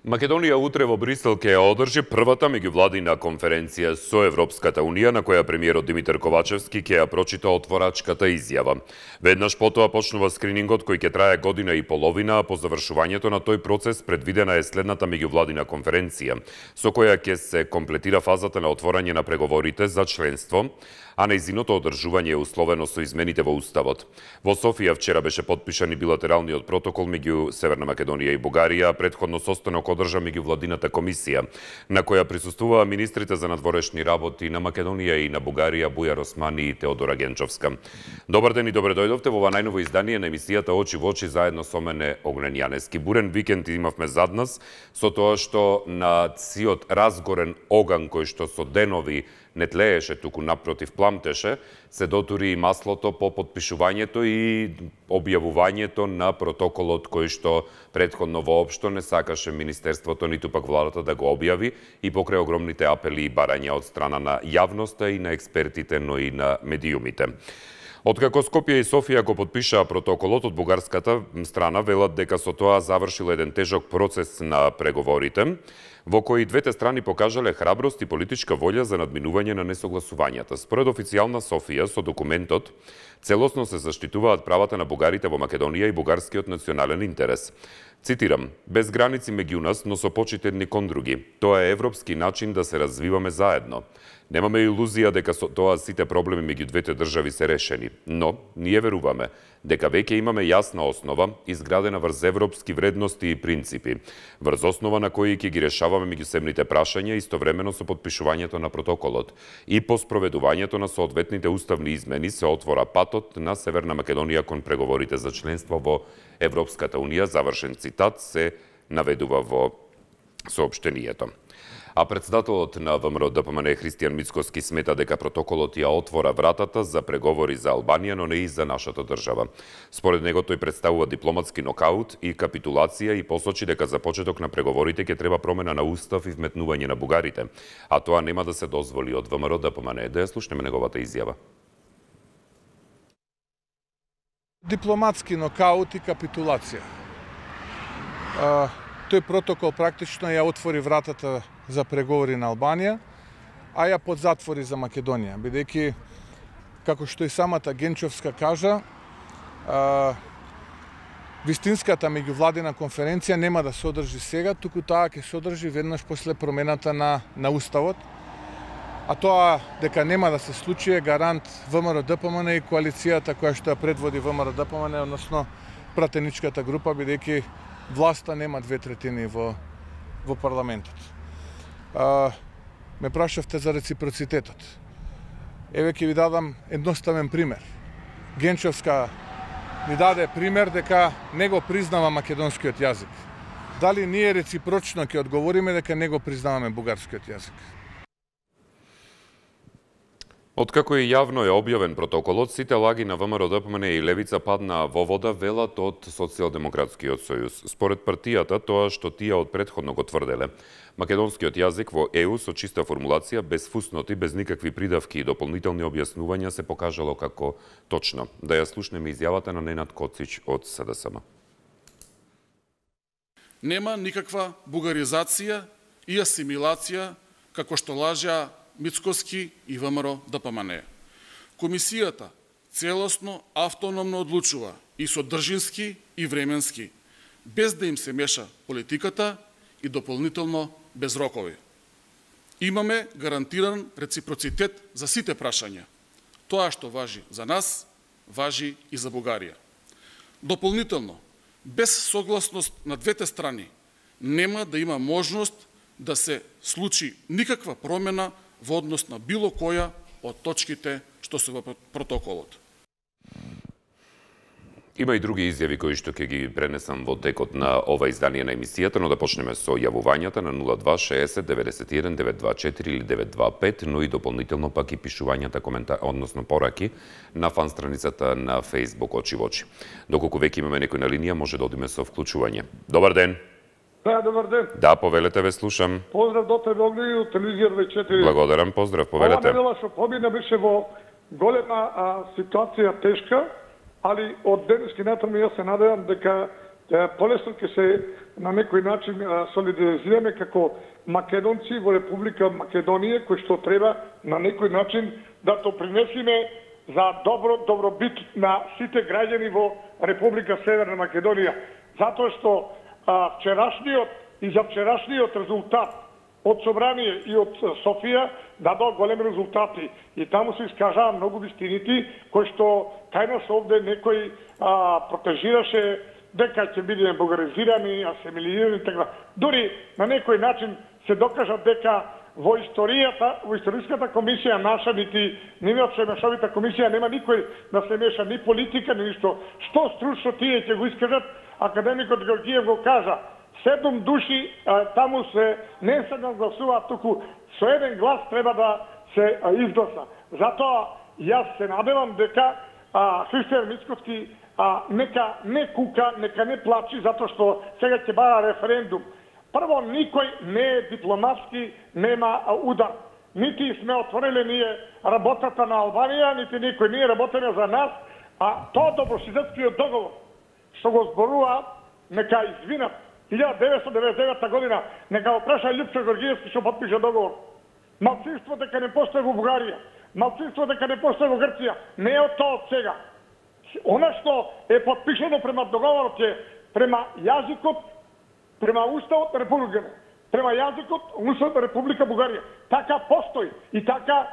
Македонија утре во Брисел ќе ја одржи првата меѓувладина конференција со Европската Унија, на која премиерот Димитар Ковачевски ќе ја прочита отворачката изјава. Веднаш потоа почнува скринингот кој ќе трае година и половина, а по завршувањето на тој процес предвидена е следната меѓувладина конференција, со која ќе се комплетира фазата на отворање на преговорите за членство, а нејзиното одржување е условено со измените во Уставот. Во Софија вчера беше подпишан и билатералниот протокол меѓу Северна Македонија и Бугарија, претходно состанок одржа меѓувладината комисија, на која присуствуваа министрите за надворешни работи на Македонија и на Бугарија Бујар Османи и Теодора Генчовска. Добар ден и добре дојдовте во ова најново издание на емисијата Очи во очи, заедно со мене Огнен Јанески. Бурен викенд имавме зад нас, со тоа што на сиот разгорен оган кој што со денови не тлееше, туку напротив пламтеше, се дотури и маслото по подпишувањето и објавувањето на протоколот кој што претходно воопшто не сакаше Министерството ниту пак владата да го објави и покрај огромните апели и барања од страна на јавноста и на експертите, но и на медиумите. Откако Скопје и Софија го подпишаа протоколот, од бугарската страна велат дека со тоа завршил еден тежок процес на преговорите, во кои двете страни покажале храброст и политичка волја за надминување на несогласувањата. Според официјална Софија, со документот целосно се заштитуваат правата на бугарите во Македонија и бугарскиот национален интерес. Цитирам: без граници меѓу нас, но со почит едни кон други. Тоа е европски начин да се развиваме заедно. Немаме илузија дека со тоа сите проблеми меѓу двете држави се решени, но ние веруваме дека веќе имаме јасна основа, изградена врз европски вредности и принципи, врз основа на кои ќе ги решаваме меѓусебните прашања истовремено со подпишувањето на протоколот. И по спроведувањето на соодветните уставни измени се отвора патот на Северна Македонија кон преговорите за членство во Европската Унија, завршен цитат, се наведува во соопштението. А председателот на ВМРО-ДПМН Христијан Мицкоски смета дека протоколот ја отвора вратата за преговори за Албанија, но не и за нашата држава. Според него тој представува дипломатски нокаут и капитулација и посочи дека за почеток на преговорите ќе треба промена на устав и вметнување на бугарите, а тоа нема да се дозволи од ВМРО-ДПМН. Да ја слушнеме неговата изјава. Дипломатски нокаут и капитулација. Тој протокол практично ја отвори вратата за преговори на Албанија, а ја подзатвори за Македонија, бидејќи, како што и самата Генчовска кажа, вистинската меѓувладина конференција нема да се одржи сега, туку таа ќе се одржи веднаш после промената на Уставот, а тоа дека нема да се случи е гарант ВМРО-ДПМН и коалицијата која што ја предводи ВМРО-ДПМН, односно пратеничката група, бидејќи власта нема 2/3 во парламентот. Ме прашавте за реципроцитетот. Еве ќе ви дадам едноставен пример. Генчовска ни даде пример дека не го признава македонскиот јазик. Дали ние реципрочно ќе одговориме дека не го признаваме бугарскиот јазик? Откако и јавно е објавен протоколот, сите лаги на ВМРО-ДПМН и Левица паднаа во вода, велат од Социјалдемократскиот сојуз. Според партијата, тоа што тие од претходно го тврделе. Македонскиот јазик во ЕУ со чиста формулација, без фусноти, без никакви придавки и дополнителни објаснувања се покажало како точно. Да ја слушнеме изјавата на Ненад Коцич од СДСМ. Нема никаква бугаризација и асимилација, како што лажеа Мицкоски и ВМРО-ДПМН. Комисијата целосно автономно одлучува и содржински и временски, без да им се меша политиката и дополнително без рокови. Имаме гарантиран реципроцитет за сите прашања. Тоа што важи за нас, важи и за Бугарија. Дополнително, без согласност на двете страни, нема да има можност да се случи никаква промена во однос на било која од точките што се во протоколот. Има и други изјави кои што ќе ги пренесам во текот на ова издание на емисијата, но да почнеме со јавувањата на 0260 91 924 или 925, но и дополнително пак и пишувањата односно пораки на фан страницата на Facebook Очи во очи. Доколку веќе имаме некој на линија, може да одиме со вклучување. Добар ден. Да, добар ден. Да, повелете, ве слушам. Поздрав до тебе, Огни, од телевизија 24. Благодарам, поздрав, повелете. Ова недела што побина беше во голема ситуација тешка, али од денески натаму јас се надевам дека полесно ќе се на некој начин солидаризираме како македонци во Република Македонија, кој што треба на некој начин да допринесиме за добробит на сите граѓани во Република Северна Македонија. Затоа што вчерашниот и за вчерашниот резултат од Собрание и од Софија дадоа големи резултати и таму се искажаа многу вистините кои што кај нас овде некој протежираше дека ќе бидеме бугаризирани, асимилирани и така. Дури на некој начин се докажа дека во историската комисија наша, нити мешовита комисија, нема никој да се меша ни политика, ни ништо. Што стручно тие ќе го искажат, академикот Георгиев го кажа. 7 души таму се не се гласуваат, туку со еден глас треба да се изгласа. Затоа јас се надевам дека Христијан Мицкоски нека не кука, нека не плачи, затоа што сега ќе бара референдум. Прво, никој не е дипломатски, нема удар. Нити сме отворили ние работата на Албанија, нити никој не е работене за нас, а тоа добрососедскиот договор, што го зборува, нека извинат. 1999 година, нека го праша Љупчо Георгиевски што потпише договор. Малцинство дека не постои во Бугарија, малцинство дека не постои во Грција, не е од тоа од сега. Она што е потпишено према договорот е према јазикот, према уставот на Републиката, према јазикот уставот на Република Бугарија. Така постои и така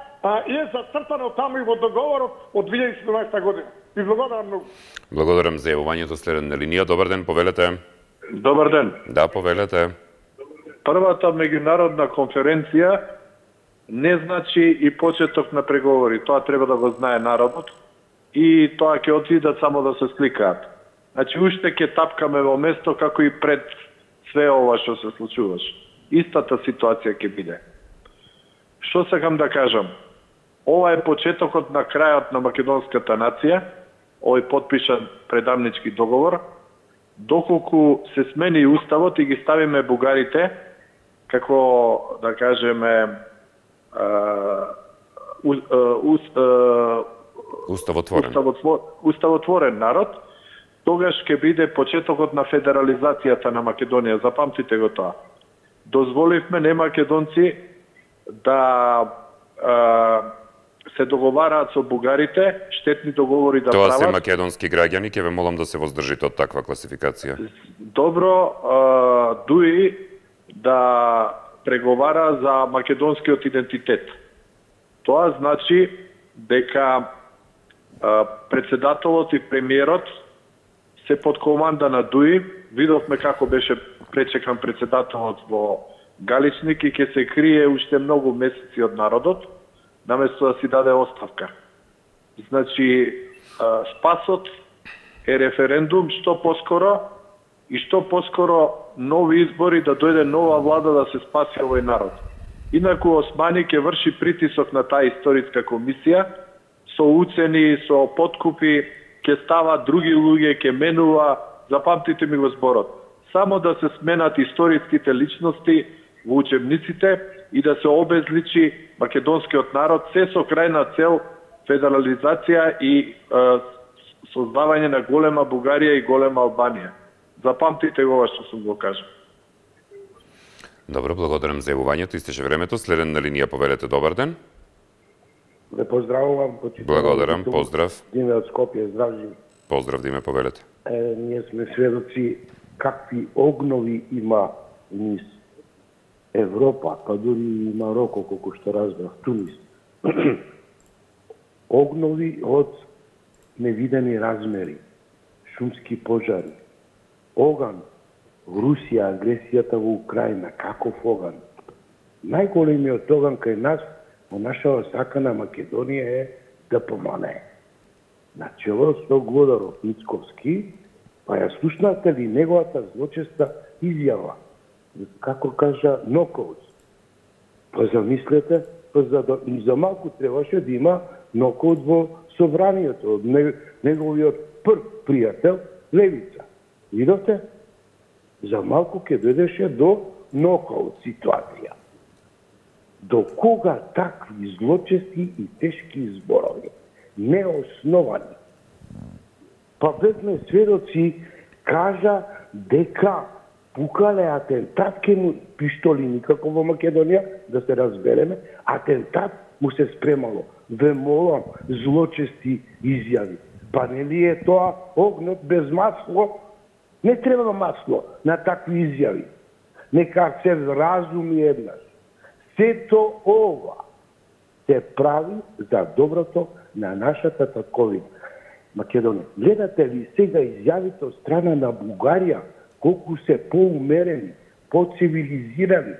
е зацртано таму и во договорот од 2017 година. Ви благодарам многу. Благодарам за јавувањето, следен на линија. Добар ден, повелете. Добар ден. Да, повелете. Првата меѓународна конференција не значи и почеток на преговори. Тоа треба да го знае народот и тоа ќе отидат само да се сликаат. Значи, уште ќе тапкаме во место како и пред све ова што се случуваше. Истата ситуација ќе биде. Што сакам да кажам? Ова е почетокот на крајот на македонската нација, овој потпишан предамнички договор, доколку се смени уставот и ги ставиме бугарите како, да кажеме, уставотворен народ, тогаш ќе биде почетокот на федерализацијата на Македонија. Запамтите го тоа. Дозволивме не македонци да се договараат со бугарите, штетни договори да прават. Тоа се македонски граѓани, ќе ве молам да се воздржите од таква класификација. Добро, дуи да преговара за македонскиот идентитет. Тоа значи дека председателот и премиерот се под команда на ДУИ. Видовме како беше пречекан председателот во Галичник и ќе се крие уште многу месеци од народот, наместо да си даде оставка. Значи, спасот е референдум што поскоро и што поскоро нови избори, да дојде нова влада да се спаси овој народ. Инаку Османи ќе врши притисок на таа историска комисија со уцени, со подкупи, ќе става други луѓе, ќе менува, запамтите ми го зборот. Само да се сменат историските личности во учебниците и да се обезличи македонскиот народ, се со крајна цел федерализација и создавање на голема Бугарија и голема Албанија. Запамтите го ова што сум го кажал. Добро, благодарам за јавувањето. Истече времето. Следен на линија, повелете. Добар ден. Ве поздравувам. Благодарам, поздрав. Диме од Скопје, здрав живи. Поздрав, Диме, повелете. Ние сме сведоци какви огнови има низ Европа, па дури и Мароко, колку што разбрав, Тунис. Огнови од невидени размери, шумски пожари, оган, Русија, агресијата во Украина, каков оган. Најголемиот оган кај нас, во нашава сакана Македонија е ДПМНЕ. Начело со Глодаров Мицковски, па ја слушнате ли неговата злочеста изјава, како кажа нокаут. Па замислете, за малку требаше да има нокаут во собранието, неговиот прв пријател Левица. Видовте? за малку ќе дојдеше до нокаут ситуација. До кога такви злочести и тешки зборови, неосновани? Па бевме сведоци, кажа дека пукале атентат ке му пиштоли, никако во Македонија, да се разбереме, атентат му се спремало. Ве молам, злочести изјави. Па нели е тоа огнот без масло? Не треба масло на такви изјави. Нека се разуми еднаш. Сето ова се прави за доброто на нашата татковина. Македонија, гледате ли сега изјавите од страна на Бугарија, колку се поумерени, поцивилизирани,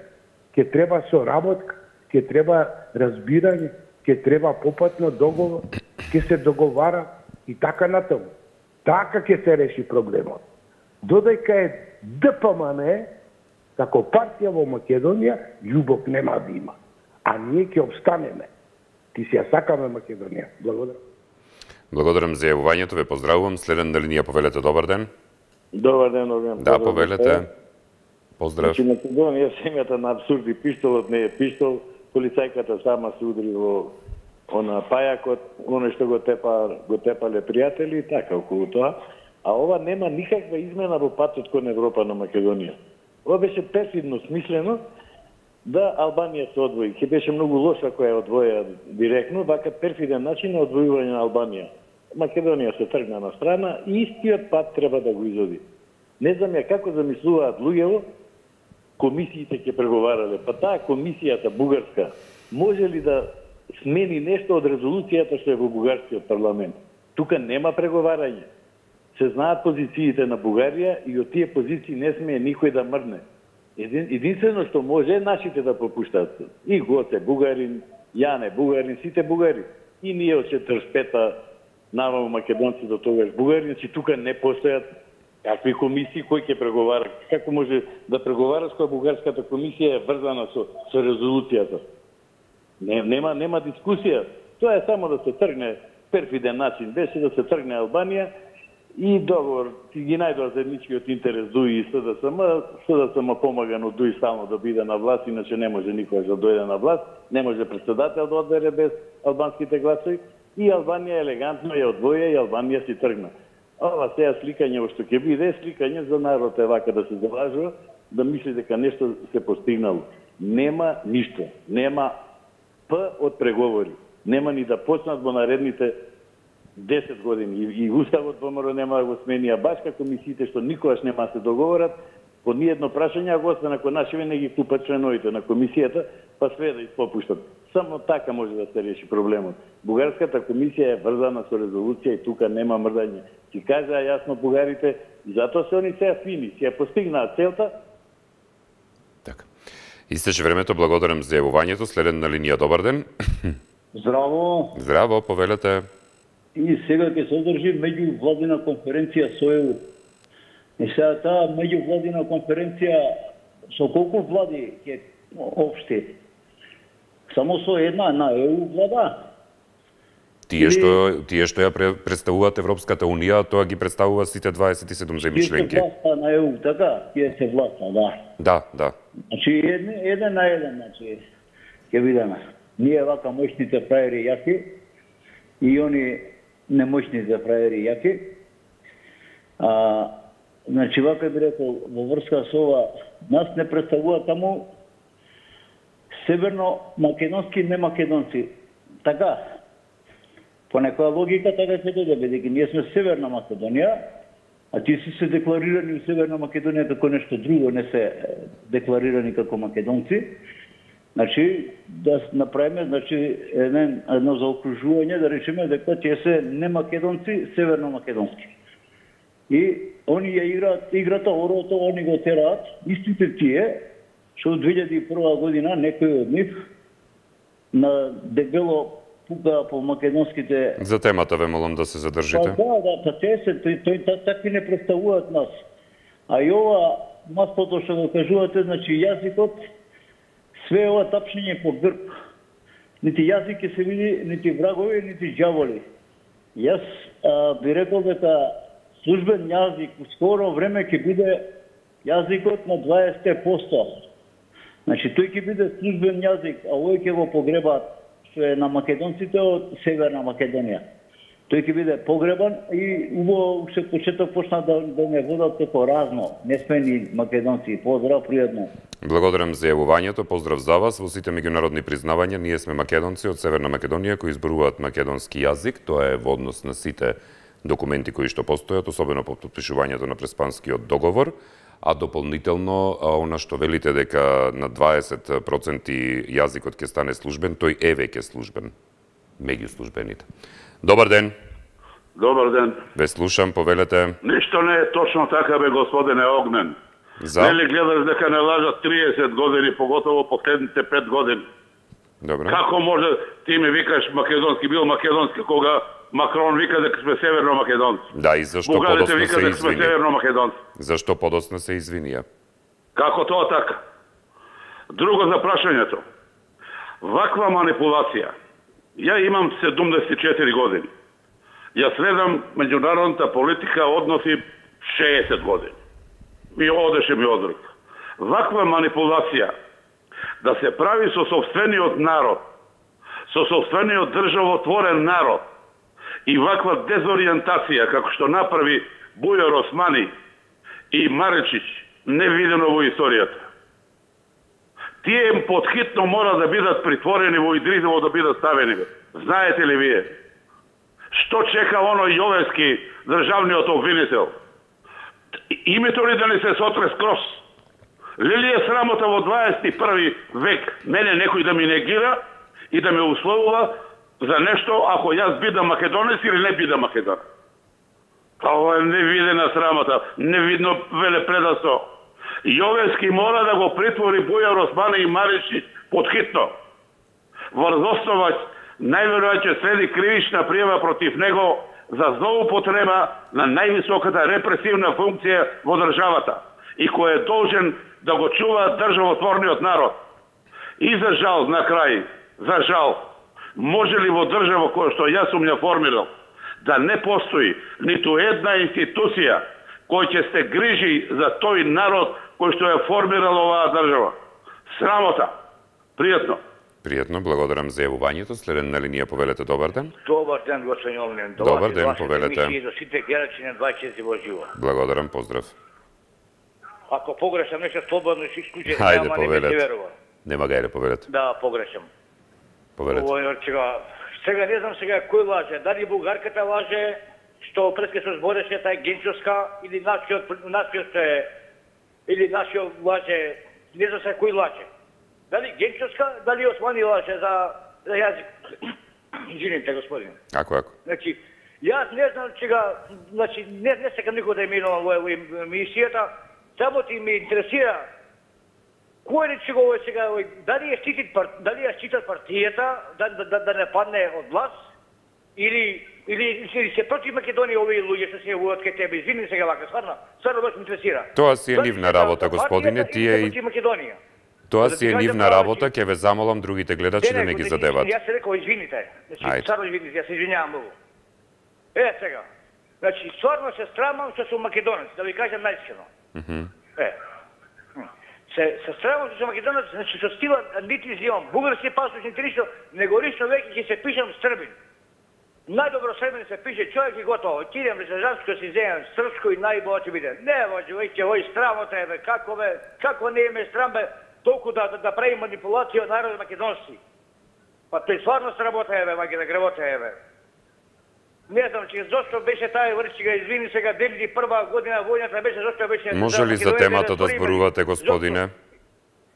ке треба соработка, ке треба разбирање, ке треба попатно договор, ке се договара и така натаму. Така ке се реши проблемот. Додека е ДПМН, како партија во Македонија, љубов нема да има. А ние ќе обстанеме. Ти си ја сакаме Македонија. Благодарам. Благодарам за јавувањето, ве поздравувам. Следен на линија, повелете, добар ден. Добар ден, Оган. Да, повелете. Поздрав. Значи, Македонија семјата на абсурди, пиштолот не е пиштол, полицајката сама се удри во пајакот, оно што го тепале пријатели, така околу тоа. А ова нема никаква измена во патот кон Европа на Македонија. Ова беше перфидно смислено да Албанија се одвои. Ке беше многу лошо ако ја одвоја директно, вака перфиден начин на одвојување на Албанија. Македонија се тргна на страна и истиот пат треба да го изоди. Не знам ја како замислуваат луѓево, комисиите ќе преговарале. Па таа комисијата бугарска може ли да смени нешто од резолуцијата што е во бугарскиот парламент? Тука нема преговарање. Се знаат позициите на Бугарија и од тие позиции не смее никој да мрдне. Единствено што може нашите да попуштат. И Гоце Бугарин, Јане Бугарин, сите бугари. И ние од 45-та наваму македонци до тогаш бугари, значи тука не постојат какви комисии, кој ќе преговара. Како може да преговараш кога бугарската комисија е врзана со резолуцијата? Нема дискусија. Тоа е само да се тргне, перфиден начин беше да се тргне Албанија и договор ги најдоа заедничкиот интерес ДУИ и СДСМ помагано ДУИ стално да биде на власт, иначе не може никој да дојде на власт, не може председател да одбере без албанските гласови и Албанија елегантно ја одвоја и Албанија си тргна. Ова сега сликање што ќе биде, сликање за народ е вака да се залажува, да мисли дека нешто се постигнало. Нема ништо, нема П од преговори. Нема ни да почнат во наредните 10 години. И Уставот ВМРО нема да го смени, а баш како комисиите што никогаш нема да се договорат, по ниедно прашање, ако освен ако нашиве не ги купат членовите на комисијата, па све да испопуштат. Само така може да се реши проблемот. Бугарската комисија е врзана со резолуција и тука нема мрдање. Си кажаа јасно бугарите, и затоа се они сега фини, си ја постигнаат целта. Така. Истече времето, благодарам за јавувањето. Следен на линија, добар ден. Здраво. Здраво, повелете. И сега ќе се одржи меѓувладина конференција со ЕУ. И сега таа меѓувладина конференција со колку влади ќе општи? Само со една на ЕУ влада. Тие што ја представуваат Европската Унија, тоа ги представува сите 27 земји членки. Ќе се власта на ЕУ, така? Ќе се власта, да. Да. Значи, еден на еден, значи, ќе видиме. Ние вака моćните фраери јаки и они немоćните фраери јаки. Значи, вака би рекол, во врска со ова, нас не представува таму северно-македонски немакедонци. Така, по некоја логика така ќе дојде, бидејќи ние сме Северна Македонија, а тие се декларирани во Северна Македонија како нешто друго, не се декларирани како македонци. Значи, да направиме едно заокружување, да речеме дека тие се немакедонци, северно-македонски. И они ја играат играта, орото, они го тераат, истите тие, што од 2001 година некој од нив на дебело пука по македонските... За темата ве молам да се задржите. Да, те такви не представуваат нас. А и ова маслото што го кажувате, значи јазикот, све ова тапшење по грб. Нити јазик ќе се види, нити врагови, нити џаволи. Јас би рекол дека службен јазик у скоро време ќе биде јазикот на 20%. Значи, тој ќе биде службен јазик, а овој ќе го погребаат што е на македонците од Северна Македонија. Тој ќе биде погребан и убаво уште почеток почна да не водат како разно. Не сме ни македонци. Поздрав, пријатно. Благодарам за јавувањето, поздрав за вас. Во сите меѓународни признавања ние сме македонци од Северна Македонија кои зборуваат македонски јазик. Тоа е во однос на сите документи кои што постојат, особено по подпишувањето на Преспанскиот договор, а дополнително она што велите дека на 20% јазикот ќе стане службен, тој е веќе службен меѓу службените. Добар ден. Добар ден. Ве слушам, повелете. Ништо не е точно така, бе, господине Огнен. За? Нели гледаш дека не лажат 30 години, поготово последните 5 години? Добре. Како може ти ми викаш македонски, бил македонски, кога Макрон вика дека сме северно македонци? Да, и зашто Бугарите подоцна вика се дека сме извини? северно македонци. Зашто подоцна се извинија? Како тоа така? Друго за прашањето. Ваква манипулација. Ја имам 74 години. Ја следам меѓународната политика односи 60 години. Ми одеше ми одруг. Ваква манипулација да се прави со сопствениот народ, со сопствениот државотворен народ и ваква дезориентација како што направи Бујар Османи и Маречич, не видено во историјата. Тие подхитно мора да бидат притворени во Идризово, да бидат ставени. Знаете ли вие? Што чека оној Јовевски, државниот обвинител? Името ли да не се сотре скрос? Ли е срамота во 21. век мене некој да ми негира и да ме условува за нешто ако јас бидам македонец или не бидам македонец? Ова е невидена срамота, невидно велепредавство. Јовевски мора да го притвори Бујар Османи и Маричич подхитно. Врз основа најверојатно следи кривична пријава против него за злоупотреба на највисоката репресивна функција во државата и кој е должен да го чува државотворниот народ. И за жал, на крај, за жал, може ли во држава која што јас сум ја формирал, да не постои ниту една институција кој ќе се грижи за тој народ кој што ја формирал оваа држава? Срамота. Пријатно. Пријатно, благодарам за јавувањето. Следен на линија, повелете, добар ден. Добар ден, господин Олнен. Добар ден, повелете. И до сите гледачи на 24 во живо. Благодарам, поздрав. Ако погрешам нешто слободно ќе исклучи, Хајде, нема повелете. Нема гајде, повелете. Да, погрешам. Повелете. Сега не знам сега кој лаже, дали бугарката лаже, што преска се збореше тај Генчовска или нашиот лаже, не знам сега кој лаже. Дали Генчовска, дали Османи лаже за јазик. Извините, господин. Ако. Значи, јас не знам чега, значи не сакам никој да именувам во емисијата, само ти ме интересира кој е чего сега, дали ја штитат партијата да не падне од власт или се против Македонија овие луѓе што се јавуваат кај тебе. Извини сега вака, стварно ме интересира. Тоа си е нивна работа, господине, тие и тоа си е нивна работа, ќе ве замолам другите гледачи да не ги задеват. Јас се рекол, извините. Значи, стварно извините, јас се извинјавам многу. Сега. Значи, стварно се срамам што сум македонец, да ви кажам најискрено. Се срамам што сум македонец, значи со стила нити изимам бугарски паспорт, нити ништо, него лично веќе ќе се пишам србин. Најдобро србин се пише човек и готово. Кидем ресержанско си земам српско и најбоа ќе биде. Не, може, веќе овој срамота е, како не име срам, бе, толку да прави манипулација од народот македонски. Па тој стварно сработа е, маги да гревота е, бе. Не знам, че зошто беше тај врчига, извини сега, 2001 година војната беше, зошто беше... Може ли за темата да зборувате, господине?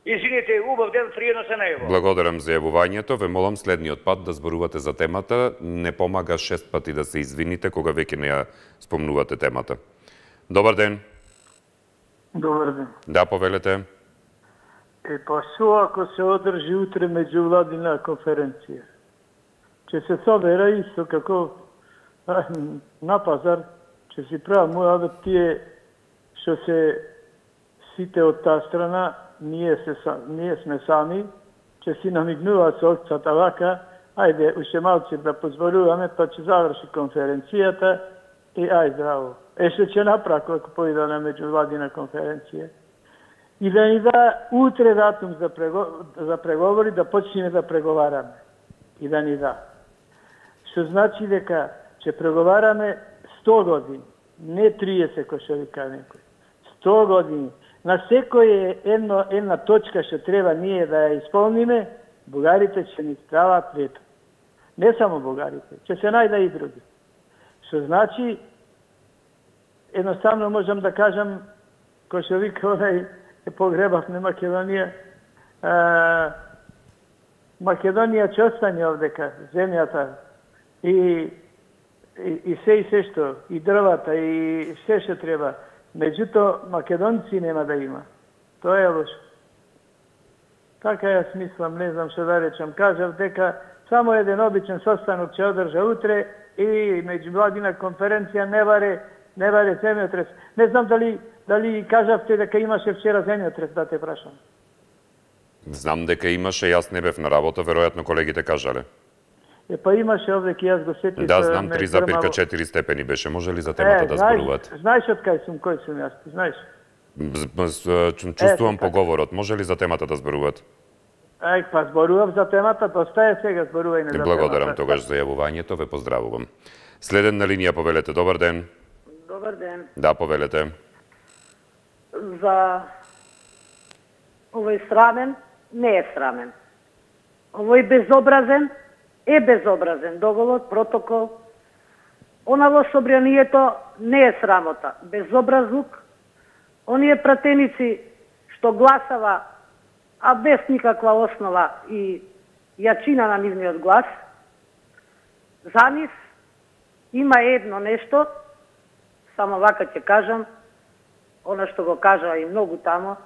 Извините, убав ден, пријатно се најаво. Благодарам за јавувањето. Ве молам следниот пат да зборувате за темата. Не помага 6 пати да се извините кога веќе не ја спомнувате темата. Добар ден. Добар ден. Да, повелете. Па што ако се одржи утре меѓувладина конференција? Ќе се собера исто како на пазар, ќе си правам моја тие што се сите од таа страна, ние сме сами, ќе си намигнуваат со овцата вака, ајде, уште малце да позволуваме, па ќе заврши конференцијата и ај здраво. што ќе направи кога појде на меѓувладина конференција. И да ни да утре датум за преговори, да почнеме да преговараме. И да ни да. Што значи дека ќе преговараме 100 години, не 30, кој што вика некој. 100 години. На секој една точка што треба ние да ја исполниме, бугарите ќе ни стават вето. Не само бугарите, ќе се најде и други. Што значи, едноставно можам да кажам, кој што вика онај погребавме Македонија, Македонија ќе остане овдека, земјата, и се што, и дрвата, и се што треба. Меѓуто, македонци нема да има. Тоа е лошо. Така јас мислам, не знам што да речам. Кажав дека само еден обичен состанок ќе одржа утре и меѓувладина конференција не варе земјотрес. Не знам дали кажавте дека имаше вчера земјотрес, да те прашам. Знам дека имаше, јас не бев на работа, веројатно колегите кажале. Па имаше овде, ки јас го сетив. Да, знам, 3,4 степени беше. Може ли за темата да зборувате? Знаеш од кој сум јас, знаеш? Чувствувам поговорот. Може ли за темата да зборувате? Па зборувам за темата, постае сега зборувај не за темата. Благодарам тогаш за јавувањето, ве поздравувам. Следен на линија, повелете, добар ден. Добар ден. Да, повелете. За овој срамен, не е срамен. Овој безобразен, е безобразен договор, протокол. Она во собранието не е срамота, безобразлук. Оние пратеници што гласава, а без никаква основа и јачина на нивниот глас, за нив има едно нешто, само вака ќе кажам, она што го кажа и многу тамо,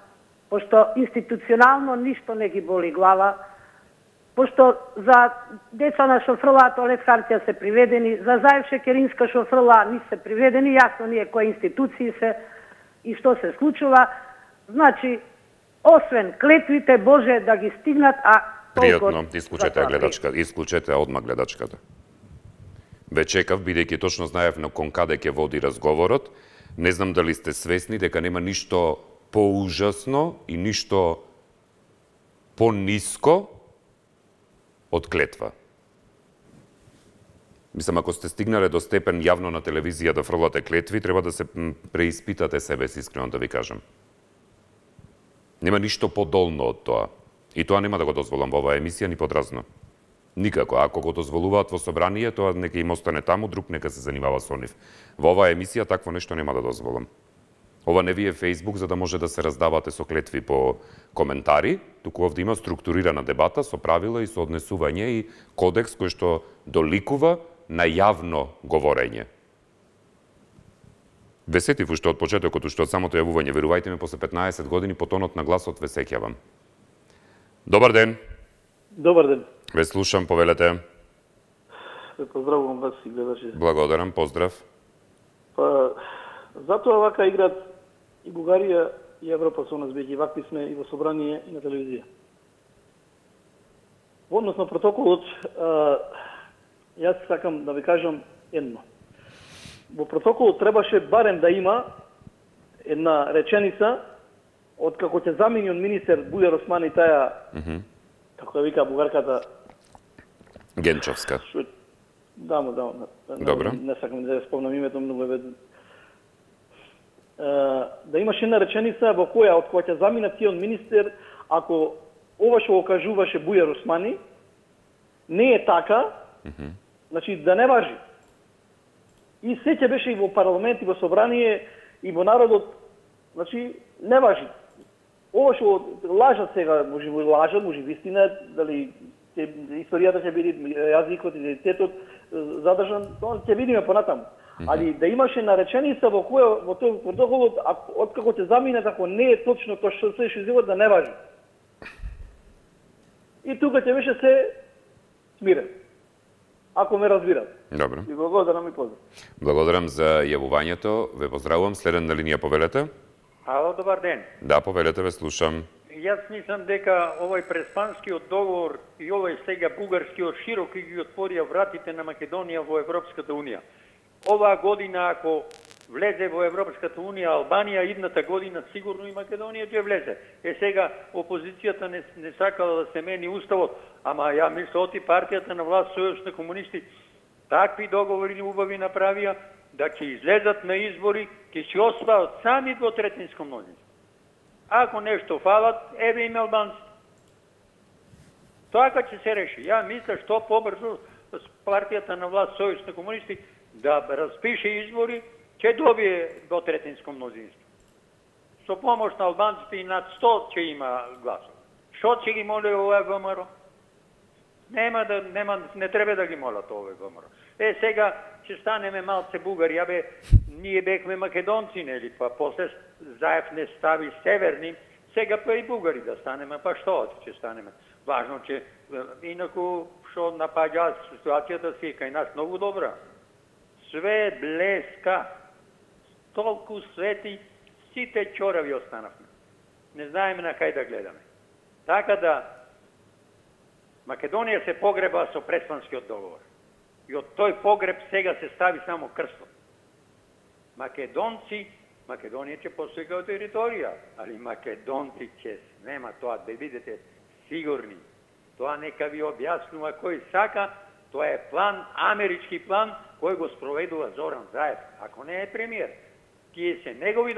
пошто институционално ништо не ги боли глава, пошто за деца на шофрлаа Толет Харција се приведени, за Заев Шекеринска шофрлаа не се приведени, јасно ние кои институции се и што се случува. Значи, освен клетвите, Боже да ги стигнат, а пријатно, исклучете одма гледачката. Ве чекав, бидејќи точно знаев на кон каде ќе води разговорот. Не знам дали сте свесни дека нема ништо поужасно и ништо пониско од клетва. Мислам, ако сте стигнале до степен јавно на телевизија да фрлате клетви, треба да се преиспитате себе си, искрено да ви кажам. Нема ништо подолно од тоа. И тоа нема да го дозволам во оваа емисија ни подразно. Никако. Ако го дозволуваат во собрание, тоа нека им остане таму, друг нека се занимава со нив. Во оваа емисија такво нешто нема да дозволам. Ова не ви е Фејсбук за да може да се раздавате со клетви по коментари, туку овде има структурирана дебата со правила и со однесување и кодекс кој што доликува на јавно говорење. Ве сетив уште од почетокот, уште од самото јавување, верувајте ми, после 15 години по тонот на гласот ве сеќавам. Добар ден. Добар ден. Ве слушам, повелете. Ве поздравувам вас и гледачи. Благодарам, поздрав. Па, затоа вака играат и Бугарија и Европа со нас, бејќи вакви сме и во собрание и на телевизија. Во однос на протоколот, јас сакам да ви кажам едно. Во протоколот требаше барем да има една реченица од како ќе замени од министер Бујар Османи таја, како ја вика бугарката Генчовска. Да. Добро. Не сакам да ја спомнам името, многу е да имаше една реченица во која од која ќе заминат тие од министер, ако ова што го кажуваше Бујар Османи не е така, значи да не важи. И се ќе беше и во парламент, и во собрание, и во народот, значи не важи. Ова што лажат сега, може би лажат, може би вистина, дали историјата ќе биде, јазикот, идентитетот задржан, тоа ќе видиме понатаму. Али да имаше нареченица во која во тој протоколот, откако ќе замине, ако не е точно тоа што се изјавува, да не важи. И тука ќе беше се смирен. Ако ме разбират. Добро. И благодарам и поздрав. Благодарам за јавувањето. Ве поздравувам. Следен на линија, повелете. Ало, добар ден. Да, повелете, ве слушам. Јас мислам дека овој преспанскиот договор и овој сега бугарскиот широко ги отворија вратите на Македонија во Европската унија. Оваа година, ако влезе во Европската унија Албанија, идната година сигурно и Македонија ќе влезе. Сега опозицијата не сакала да се мени уставот, ама ја мислам оти партијата на власт Сојуз на комунисти такви договори убави направија да ќе излезат на избори, ќе се осваат сами двотретинско мнозинство. Ако нешто фалат, еве им албанци. Тоа ќе се реши. Ја мислам што побрзо партијата на власт Сојуз на комунисти да распише избори, ќе добие двотретинско мнозинство. Со помош на албанците и над 100 ќе има гласови. Што ќе ги моли овој ВМРО? Не треба да ги молат овој ВМРО. Сега ќе станеме малце бугари, ние бевме македонци, нели, па после Заев не стави северни, сега па и бугари да станеме, па што ќе станеме? Важно че, инаку, што напаѓа ситуацијата си кај нас многу добра. Све блеска, толку свети, сите чорави останавме. Не знаеме на кај да гледаме. Така да, Македонија се погреба со Преспанскиот договор. И од тој погреб сега се стави само крстот. Македонија ќе постои као територија, али македонци ќе нема тоа, да бидете сигурни. Тоа нека ви објаснува кој сака, тоа е план, амерички план, кој го спроведува Зоран Заев, ако не е премиер. Тие се негови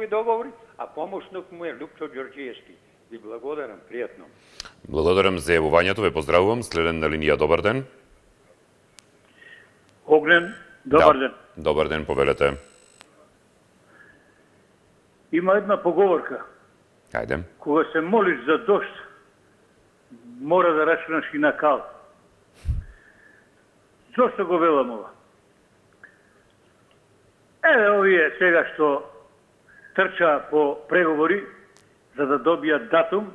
договори, а помошник му е Лупчо Ѓорѓиевски. Ви благодарам, пријатно. Благодарам за јавувањето, ве поздравувам. Следен на линија, добар ден. Огнен, добар ден. Добар ден, повелете. Има една поговорка. Ајде. Кога се молиш за дожд, мора да рачунаш и на кал. Зошто го велам ова? Еве овие сега што трча по преговори за да добијат датум,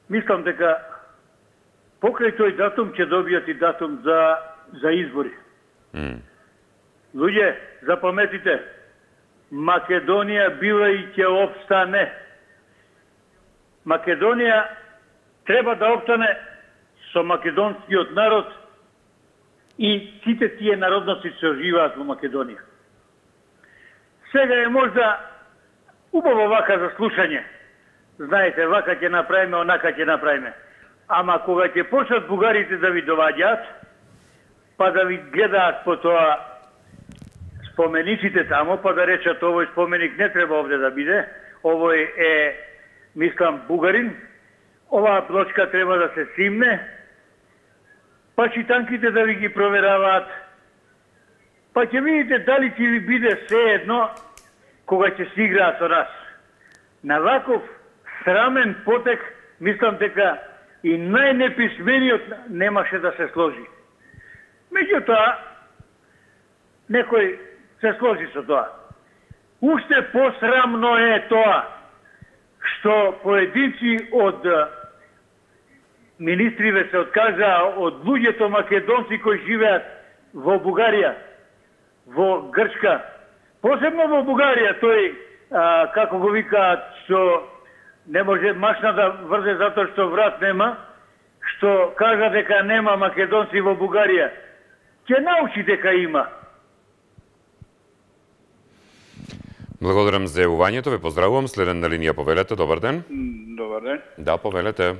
мислам дека покрај тој датум ќе добијат и датум за избори. Луѓе, запаметите, Македонија била и ќе опстане. Македонија треба да опстане со македонскиот народ и сите тие народности што живеат во Македонија. Сега е можда убаво вака за слушање. Знаете, вака ќе направиме, онака ќе направиме. Ама кога ќе почнат бугарите да ви доваѓаат, па да ви гледаат по тоа спомениците тамо, па да речат овој споменик не треба овде да биде, овој е, мислам, бугарин, оваа плочка треба да се симне, па читанките да ви ги провераваат, па ќе видите дали ќе ви биде се едно кога ќе се играат со нас. На ваков срамен потек, мислам дека и најнеписмениот немаше да се сложи. Меѓутоа, некој се сложи со тоа. Уште посрамно е тоа што поединци од министриве се откажаа од луѓето македонци кои живеат во Бугарија, во Грчка, посебно во Бугарија, тој, како го викаат, што не може машна да врзе затоа што врат нема, што кажа дека нема македонци во Бугарија. Ќе научи дека има. Благодарам за јавувањето, ве поздравувам. Следен на линија, повелете, добар ден. Добар ден. Да, повелете.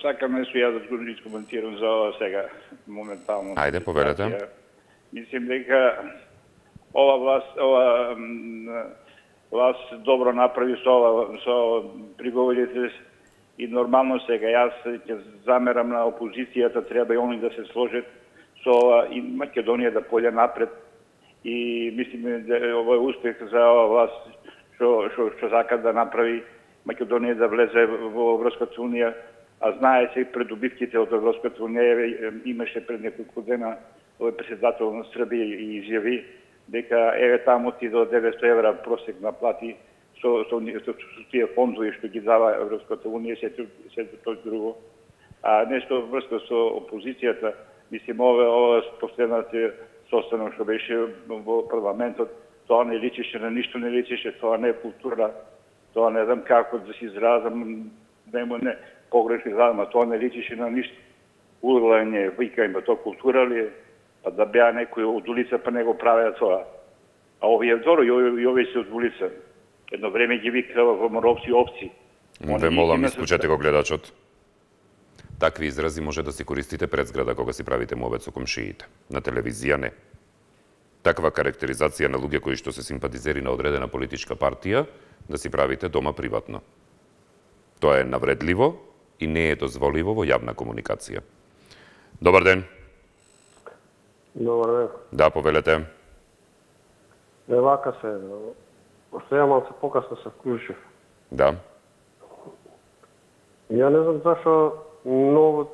Сакам нешто јас да го искоментирам за ова сега, моментално. Ајде, повелете. Мислим дека ова власт добро направи со приговорите и нормално сега. Јас ќе замерам на опозицијата, треба и они да се сложат со ова и Македонија да појде напред. И мислиме дека ова е успех за ова власт што сака да направи Македонија да влезе во Европската унија, а знае се придобивките од Европската унија. Имаше пред неколку дена овој председател на Србија и изјави дека еве таму ти до 900 евра просек на плати со тие фондови што ги дава Европската унија, се тоа друго. А нешто врска со опозицијата, мислим ова последната состанок што беше во парламентот, тоа не личеше на ништо, не личеше, тоа не е култура, тоа не знам како да се изразам, не погрешно изразам, тоа не личеше на ништо. Урлање, викање, тоа култура ли е? па да беа некој од улица, па не го правеа тоа. А овие добро, и овие се од улица. Едно време ги викава ВМРО-вци овци. Ве молам, исклучете го гледачот. Такви изрази може да си користите пред зграда кога си правите муабет со комшиите. На телевизија не. Таква карактеризација на луѓе кои што се симпатизери на одредена политичка партија, да си правите дома приватно. Тоа е навредливо и не е дозволиво во јавна комуникација. Добар ден. Добар ден. Да, повелете. Не вака се, постоја малце покасно се вклучив. Да. Ја не знам зашо многу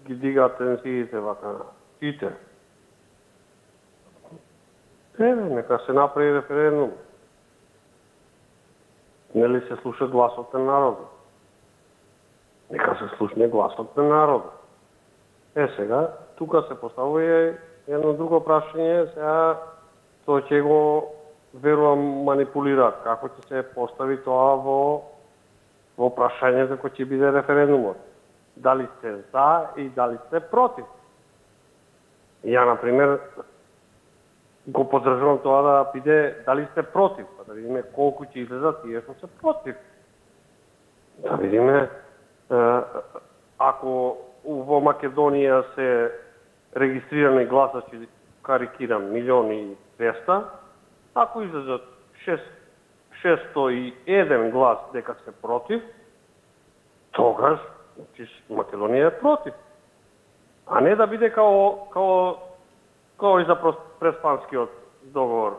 ги дигаат тензиите вака. Ите. Нека се направи референдум. Нели се слуша гласот на народот? Нека се слушне гласот на народот. Сега, тука се поставува едно друго прашање, сега тоа ќе го верувам манипулираат. Како ќе се постави тоа во прашањето кој ќе биде референдумот? Дали сте за и дали сте против? Ја, например, го поддржувам тоа да биде дали сте против, па да видиме колку ќе излезат тие што се против. Да видиме ако во Македонија се регистрирани гласачи, карикирам, 1.200.000, ако излезат 601 глас дека се против, тогаш Македонија е против. А не да биде као и за преспанскиот договор,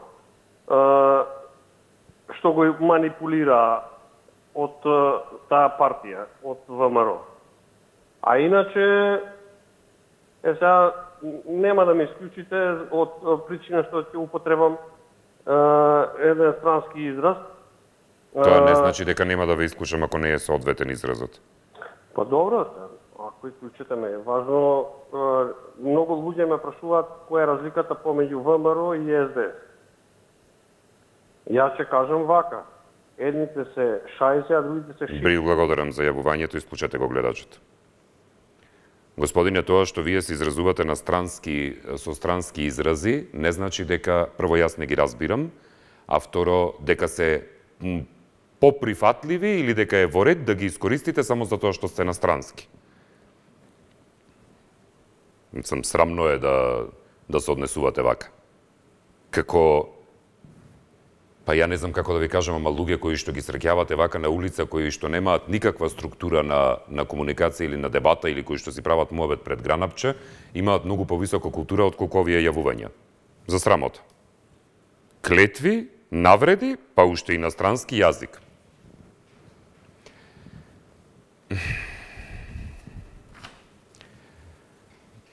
што го манипулира од таа партија, од ВМРО. А иначе, сега нема да ме исклучите од причина што ќе употребам еден странски израз. Тоа не значи дека нема да ве исклучам ако не е соодветен изразот. Па добро, ако исклучите ме, важно, многу луѓе ме прашуваат која е разликата помеѓу ВМРО и СДС. Јас ќе кажам вака, едните се шајзе, а другите се шијзе. Благодарам за јавувањето, исклучете го гледачот. Господине, тоа што вие се изразувате на со странски изрази, не значи дека, прво јас не ги разбирам, а второ, дека се поприфатливи или дека е во ред да ги искористите само за тоа што сте на странски. Срамно е да се однесувате вака. Како, па ја не знам како да ви кажам, ама луѓе кои што ги среќавате вака на улица, кои што немаат никаква структура на комуникација или на дебата, или кои што си прават муабет пред гранапче, имаат многу повисока култура од колку овие јавувања. За срамота. Клетви, навреди, па уште и на странски јазик.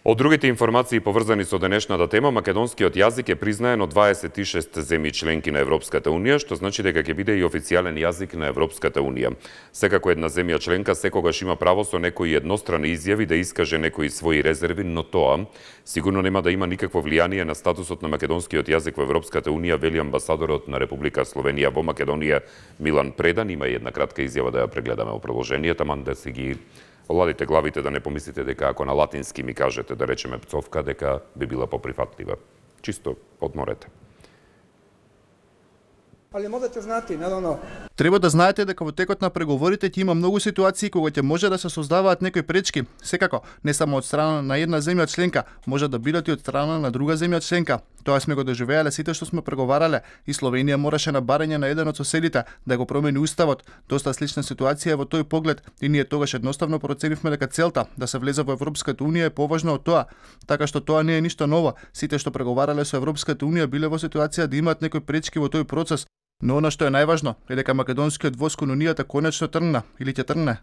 Од другите информации поврзани со денешната тема, македонскиот јазик е признаен од 26 земји членки на Европската Унија, што значи дека ќе биде и официјален јазик на Европската Унија. Секако една земја членка секогаш има право со некои еднострани изјави да искаже некои своји резерви, но тоа сигурно нема да има никакво влијание на статусот на македонскиот јазик во Европската Унија, вели амбасадорот на Република Словенија во Македонија Милан Предан. Има и една кратка изјава да ја прегледаме во продолжението, ман да си ги оладите главите, да не помислите дека ако на латински ми кажете да речеме пцовка, дека би била поприфатлива. Чисто одморете. Ali morate znati, naravno. Треба да знаете дека во текот на преговорите ќе има многу ситуации кога ќе може да се создаваат некои пречки. Секако, не само од страна на една земја членка, може да бидат и од страна на друга земја членка. Тоа сме го доживеале сите што сме преговарале и Словенија мораше на барање на еден од соседите да го промени уставот. Доста слична ситуација во тој поглед и ние тогаш едноставно проценивме дека целта да се влезе во Европската Унија е поважна од тоа. Така што тоа не е ништо ново. Сите што преговарале со Европската Унија биле во ситуација да имаат некои пречки во тој процес. Но она што е најважно е дека македонскиот воз кон Унијата конечно тргна или ќе тргне.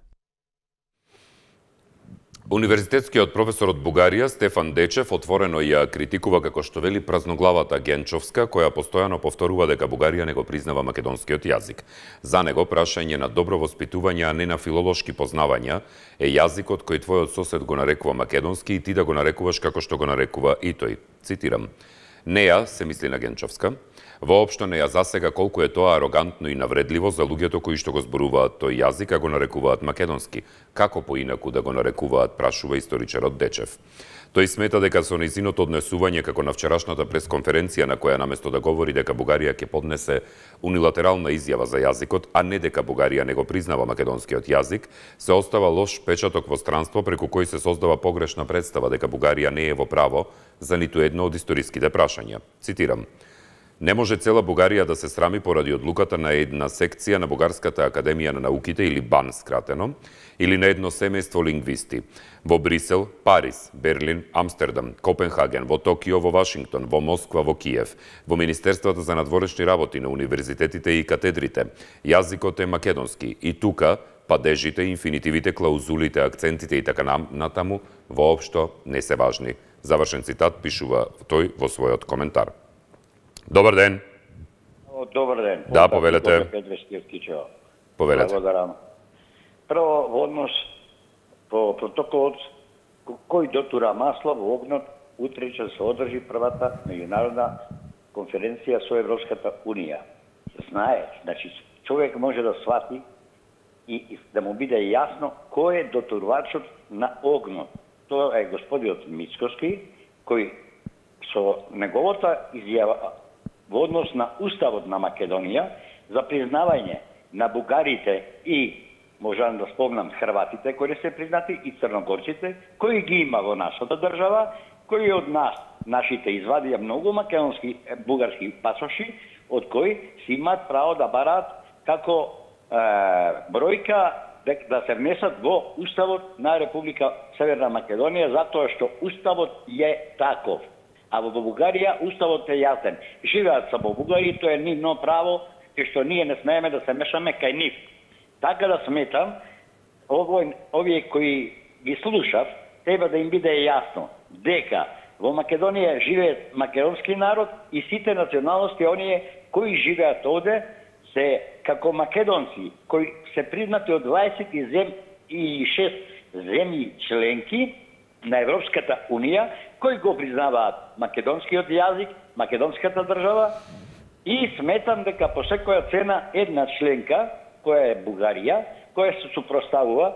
Универзитетскиот професор од Бугарија Стефан Дечев отворено ја критикува, како што вели, празноглавата Генчовска, која постојано повторува дека Бугарија не го признава македонскиот јазик. За него прашање на добро воспитување, а не на филолошки познавања, е јазикот кој твојот сосед го нарекува македонски и ти да го нарекуваш како што го нарекува и тој. Цитирам: "Неа, се мисли на Генчовска, Воопшто не ја засега колку е тоа арогантно и навредливо за луѓето кои што го зборуваат тој јазик, а го нарекуваат македонски. Како поинаку да го нарекуваат, прашува историчарот Дечев. Тој смета дека со нејзиното однесување како на вчерашната пресконференција на која наместо да говори дека Бугарија ќе поднесе унилатерална изјава за јазикот, а не дека Бугарија не го признава македонскиот јазик, се остава лош печаток во странство преку кој се создава погрешна представа дека Бугарија не е во право за ниту едно од историските прашања. Цитирам: "Не може цела Бугарија да се срами поради одлуката на една секција на Бугарската академија на науките или БАН скратено, или на едно семејство лингвисти. Во Брисел, Париз, Берлин, Амстердам, Копенхаген, во Токио, во Вашингтон, во Москва, во Киев, во Министерствата за надворешни работи на универзитетите и катедрите. Јазикот е македонски и тука падежите, инфинитивите, клаузулите, акцентите и така натаму воопшто не се важни." Завршен цитат, пишува тој во својот коментар. Добар ден. Добар ден. Да, повелете. Повелете. Благодарам. Прво, во однос по протоколот кој дотура масло во огнот, утре ќе се одржи првата меѓународна конференција со Европската Унија. Знае, значи човек може да свати и да му биде јасно кој е дотурвачот на огнот. Тоа е господинот Мицкоски, кој со неговата изјава во однос на Уставот на Македонија за признавање на бугарите и, можам да спомнам, хрватите кои не се признати и црногорците, кои ги има во нашата држава, кои од нас, нашите извадија многу македонски, бугарски пасоши, од кои си имаат право да бараат како бројка да се внесат во Уставот на Република Северна Македонија, затоа што Уставот е таков. А во Бугарија Уставот е јасен. Живеат само бугари, тоа е нивно право, кај што ние не смееме да се мешаме кај нив. Така да сметам, овие кои ги слушав, треба да им биде јасно дека во Македонија живеат македонски народ и сите националности, оние кои живеат овде, се како македонци, кои се признати од 26 земји членки на Европската Унија, кои го признаваат македонскиот јазик, македонската држава, и сметам дека по секоја цена една членка, која е Бугарија, која се супроставува,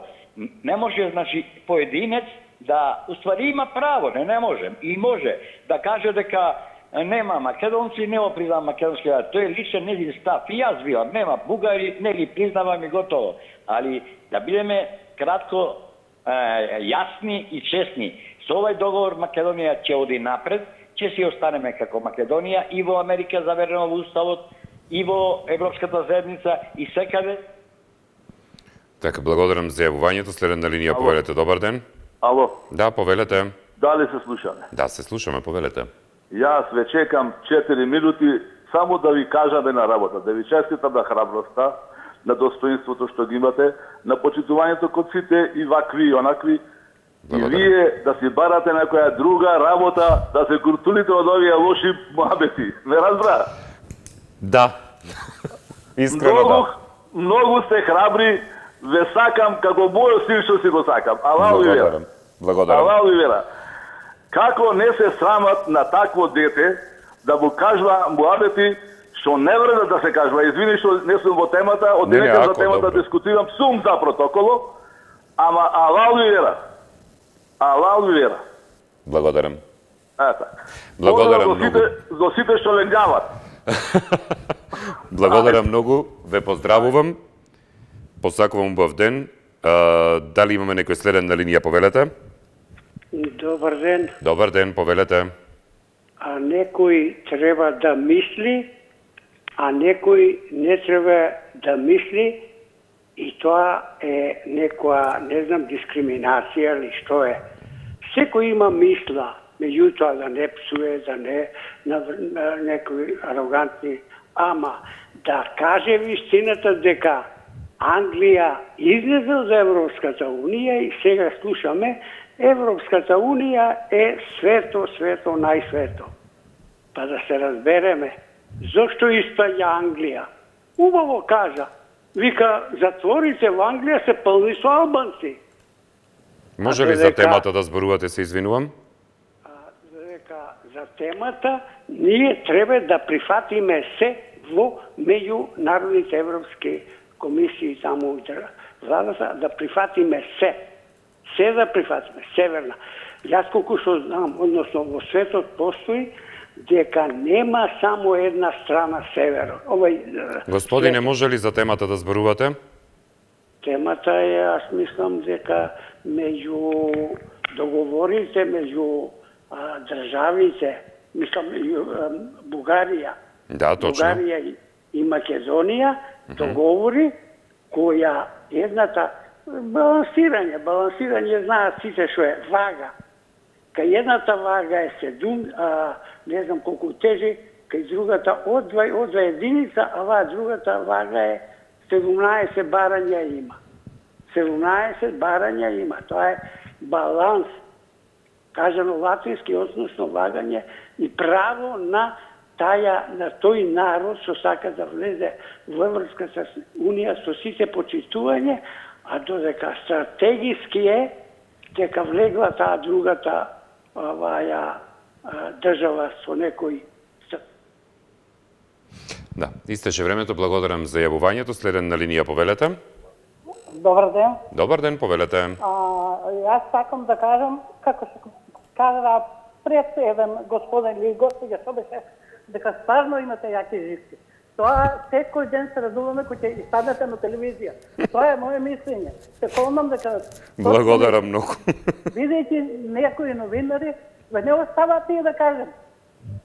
не може, значи, поединец да, уствари има право, не може, и може да каже дека нема македонци, не го признавам македонски јазик. Тој е личен незин став. И јас бивам, нема бугари, не ги признавам и готово. Али да бидеме кратко јасни и честни. Со овој договор Македонија ќе оди напред, ќе си останеме како Македонија и во Америка заверено во Уставот, и во Европската заедница, и секаде. Така, благодарам за јавувањето. Следен на линија, повелете. Добар ден. Ало. Да, повелете. Дали се слушаме? Да, се слушаме, повелете. Јас ве чекам 4 минути само да ви кажаме на работа, да ви честитам на храброста, на достоинството што ги имате, на почитувањето кон сите и вакви и онакви. Благодаря. И вие да си барате некоја друга работа, да се куртулите од овие лоши муабети. Ме разбра? Да. Искрено да. Многу сте храбри, ве сакам како мојот син што си го сакам. Алал ви вера. Благодарам. Алал ви вера. Како не се срамат на такво дете да му кажува муабети што не вреда да се кажува. Извини што не сум во темата, од денека за темата дискутирам, сум за протоколо, ама алал ви вера. Алал ви вера. Благодарам. Ета. Благодарам многу. За сите што ленгават. Благодарам многу, ве поздравувам. Посакувам убав ден. Дали имаме некој следен на линија, повелете? Добар ден. Добар ден, повелете. А некој треба да мисли, а некој не треба да мисли, и тоа е некоја, не знам, дискриминација или што е. Секој има мисла, меѓутоа да не псуе, да не на некои арогантни, ама да каже вистината дека Англија излезе од Европската Унија и сега слушаме Европската Унија е свето, најсвето. Па да се разбереме, зошто испаѓа Англија? Убаво кажа, вика, затворите во Англија се пълни со албанци. Може ли за темата да зборувате, се извинувам? Дека за темата, ние треба да прифатиме се во меѓународните европски комисии таму владата, да прифатиме се. Се да прифатиме, северна. Јас колку што знам, односно во светот постои дека нема само една страна северо. Господине, може ли за темата да зборувате? Темата е, аз мислам дека меѓу договорите меѓу државите, мислам Бугарија, да, точно. Бугарија и Македонија, договори која едната балансирање знаат сите што е вага. Кај едната вага е 7, не знам колку тежи, кај другата од 2 единица, а оваа другата вага е 17 барања има. 17 барања има. Тоа е баланс. Кажано латински, односно вагање и право на тој народ што сака да влезе во Европската унија со сите почитување, а додека стратегиски е дека влегла таа другата држава со некој. Да, истече времето, благодарам за јавувањето. Следен на линија, повелете. Добар ден. Добар ден, повелете. Јас сакам да кажам, како што кажа пред еден господин или господја, што беше, дека стварно имате јаки живки. Тоа секој ден се радуваме кој ќе испаднете на телевизија. Тоа е моје мислење. Се помнам дека... Благодарам многу. Видејќи некои новинари, не оставаат тие да кажем.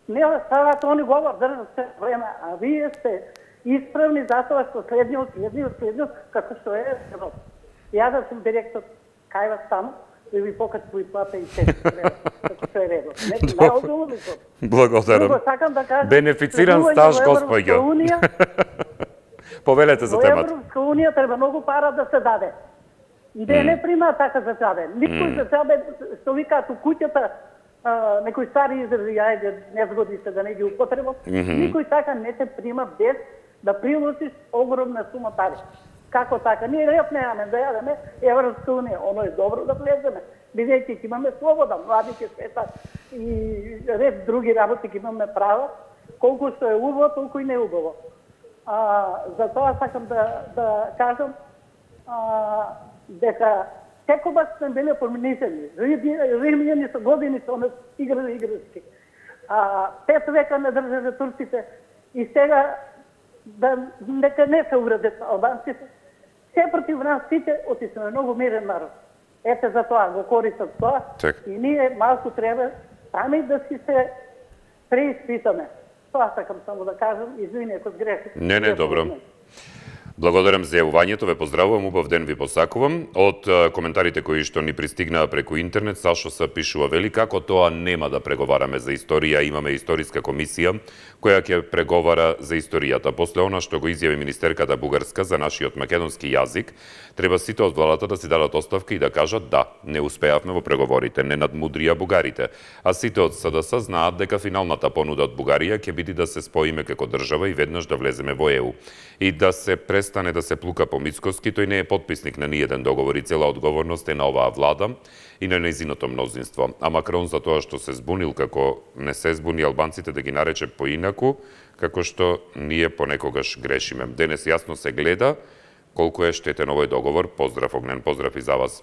Не оставаат, они говор држат се време, а вие сте исправни затоа што следниот, како што е Европа. Ја да сум директор кај вас таму, и ви покачу и плата и се како што е редот. Благодарам. Бенефициран стаж, господјо. Повелете за темата. Во Европска унија треба многу пара да се даде. И да не прима така за џабе. Никој за џабе, што викаат у куќата, некои стари изрази, ајде, не згоди се да не ги употребам, никој така не се прима без да приложиш огромна сума пари. Како така? Ние ред немаме да јадеме Европска унија, оно е добро да влеземе. Бидејќи ќе имаме слобода, млади ќе светат и ред други работи ќе имаме право, колку што е убаво, толку и не убаво. Затоа сакам да кажам дека секогаш сме биле помнишени. Римјани со години со нас играли играчки. 5 века не држале турците и сега нека не се уредат албанците. Се против нас сите, оти сме многу мирен народ. Ете за тоа го користат тоа и ние малку треба сами да си се преиспитаме. Тоа сакам само да кажам, извини ако сгрешив. Не, добро. Благодарам за јавувањето, ве поздравувам, убав ден ви посакувам. Од коментарите кои што ни пристигнаа преку интернет, Сашо се пишува, вели како тоа нема да преговараме за историја, имаме историска комисија која ќе преговара за историјата. После она што го изјави министерката бугарска за нашиот македонски јазик, треба сите од владата да си дадат оставка и да кажат да, не успеавме во преговорите, не надмудрија бугарите. А сите од СДС знаат дека финалната понуда од Бугарија ќе биде да се споиме како држава и веднаш да влеземе во ЕУ. И да се престане да се плука по Мицкоски, тој не е потписник на ниеден договор и цела одговорност е на оваа влада и на нејзиното мнозинство. А Макрон за тоа што се збунил како не се збуни албанците да ги нарече поинаку, како што ние понекогаш грешиме. Денес јасно се гледа колку е штетен овој договор. Поздрав, огнен поздрав и за вас,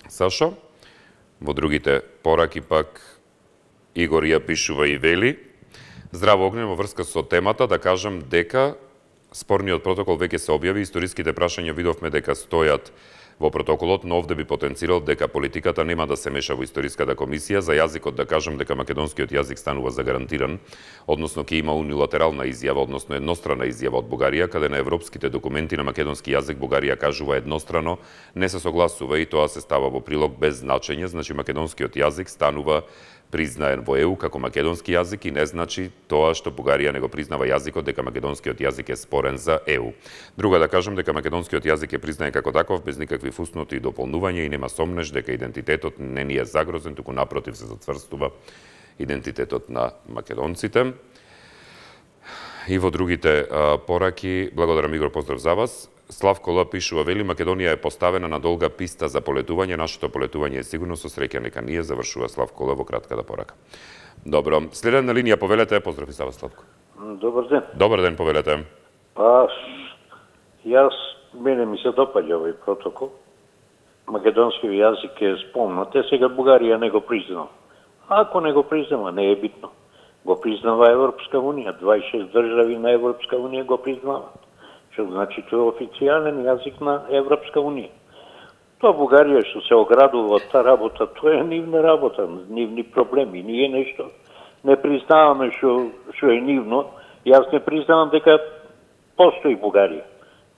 Сашо. Во другите пораки пак Игор ја пишува и вели: здраво, Огнен, во врска со темата да кажам дека спорниот протокол веќе се објави, историските прашања видовме дека стојат во протоколот, но овде би потенцирал дека политиката нема да се меша во историската комисија. За јазикот да кажам дека македонскиот јазик станува загарантиран, односно ќе има унилатерална изјава, односно еднострана изјава од Бугарија, каде на европските документи на македонски јазик Бугарија кажува еднострано, не се согласува и тоа се става во прилог без значење, значи македонскиот јазик станува признаен во ЕУ како македонски јазик и не значи тоа што Бугарија не го признава јазикот дека македонскиот јазик е спорен за ЕУ. Друга да кажам дека македонскиот јазик е признаен како таков без никакви фусноти и дополнувања и нема сомнеш дека идентитетот не ни е загрозен, туку напротив се зацврстува идентитетот на македонците. И во другите пораки, благодарам Игор, поздрав за вас. Славко Л. пишува, вели, Македонија е поставена на долга писта за полетување, нашето полетување е сигурно, со среќа нека ние, завршува Славко Л. во кратката порака. Добро. Следна линија, повелете, поздрав и Сава Славко. Добар ден. Добар ден, повелете. Па, мене ми се допаѓа овој протокол. Македонски јазик е спомнат, сега Бугарија не го признава. Ако не го признава, не е битно. Го признава Европска унија, 26 држави на Европска унија го признават. Што значи тоа е официјален јазик на Европска унија. Тоа Бугарија што се оградува од таа работа, тоа е нивна работа, нивни проблеми, ние нешто не признаваме што е нивно. Јас не признавам дека постои Бугарија.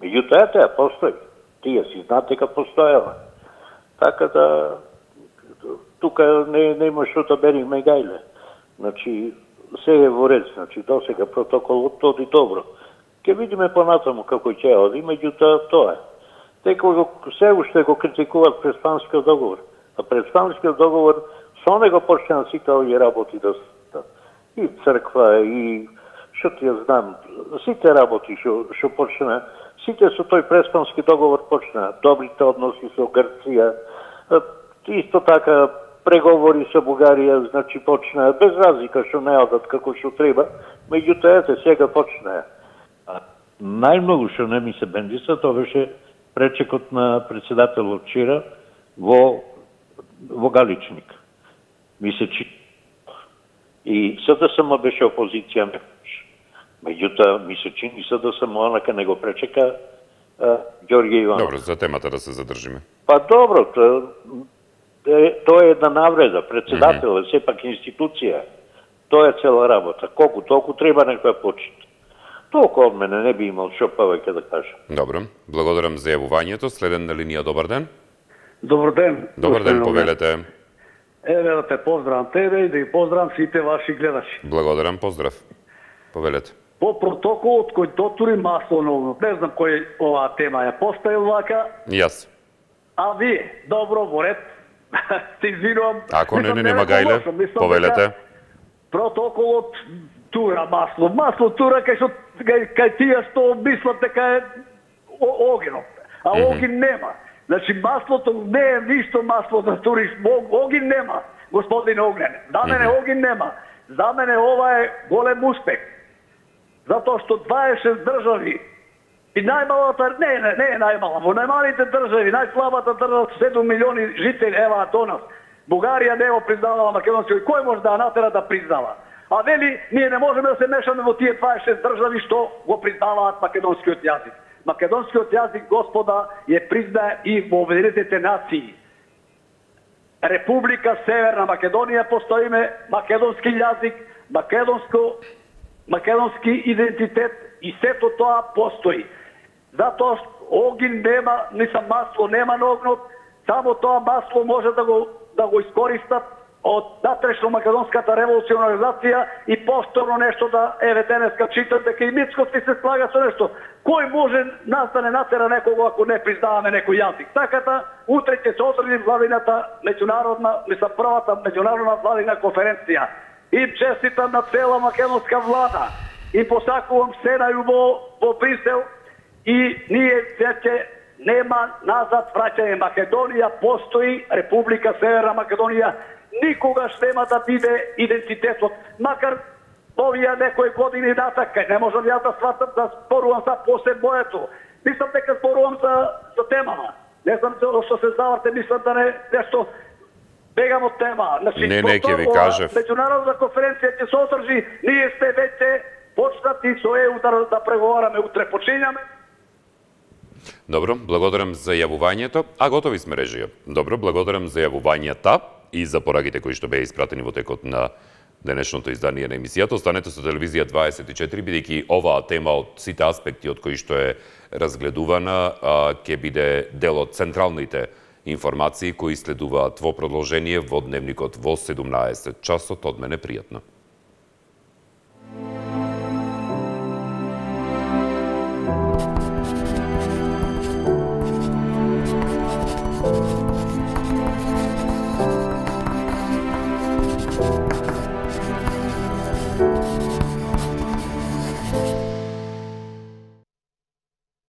Меѓутоа, таа постои. Тие си знаат дека постоела. Така да, тука нема што да бериме гајле. Значи, се е во ред, значи, досега протоколот оди добро. Ке видиме понатаму како ќе оди, меѓутоа тоа е. Дека се уште го критикуваат Преспанскиот договор. А Преспанскиот договор со него почнаа сите овие работи да и црква, и што ти ја знам, сите работи што почнаа, сите со тој Преспански договор почнаа. Добрите односи со Грција, исто така преговори со Бугарија, значи почнаа, без разлика што не одат како што треба, меѓутоа ете сега почнаа. Најмногу што не ми се бендиса, тоа беше пречекот на председателот вчера во Галичник. Ми се и СДСМ беше опозиција мекаш. Меѓутоа ми се чини СДСМ онака не го пречека Ѓорѓе Иванов. Добро, за темата да се задржиме. Па добро, тоа е една навреда. Председател е сепак институција. Тоа е цела работа. Колку толку треба некоја почит. Толку од мене не би имал што повеќе да кажам. Добро, благодарам за јавувањето. Следен на линија, добар ден. Добар ден. Добар ден, повелете. Еве да те поздравам тебе и да ги поздравам сите ваши гледачи. Благодарам, поздрав. Повелете. По протоколот кој дотури масово, не знам кој оваа тема ја поставил вака. Јас. А вие, добро, во ред. Се извинувам. Ако нема гајле, повелете. Протоколот тура масло. Масло тура кај тие што мислат дека е огинот. А огин нема. Значи маслото не е ништо масло за туриш. Огин нема, господин Огнен. За мене огин нема. За мене ова е голем успех. Затоа што 26 држави и најмалата, не е најмала, во најмалите држави, најслабата држава, 7 милиони жители, ева до нас. Бугарија не го признавала македонскиот, кој може да натера да признава? А вели, ние не можеме да се мешаме во тие 26 држави што го признаваат македонскиот јазик. Македонскиот јазик, господа, ја признае и во Обединетите нации. Република Северна Македонија постоиме, македонски јазик, македонски идентитет и сето тоа постои. Затоа огин нема, масло нема на огнот, само тоа масло може да го искористат од натрешно-македонската револуционна организација и повторно нешто да денеска читат дека и Мицкоски се слага со нешто. Кој може нас да не натера некого ако не признаваме некој јазик? Така утре ќе се одржи владината првата меѓународна владина конференција. И честитам на цела македонска влада. И посакувам се најубаво во Брисел и ние веќе нема назад враќање. Македонија постои, Република Северна Македонија никогаш нема да биде идентитетот. Макар овие некои години натака, не можам ја да сватам да спорувам за после моето. Мислам дека спорувам за темама. Не знам што се заварте, мислам да не нешто бегам од тема. Не, ќе ви кажев. Меѓународна конференција ќе се одржи, ние сте веќе почнати со ЕУ да преговараме, утре почињаме. Добро, благодарам за јавувањето, а готови сме режија. Добро, благодарам за јавувањата и за пораките кои што беа испратени во текот на денешното издание на емисијата. Останете со телевизија 24, бидејќи оваа тема од сите аспекти од кои што е разгледувана ќе биде дел од централните информации кои следуваат во продолжение во дневникот во 17 часот. Од мене пријатно.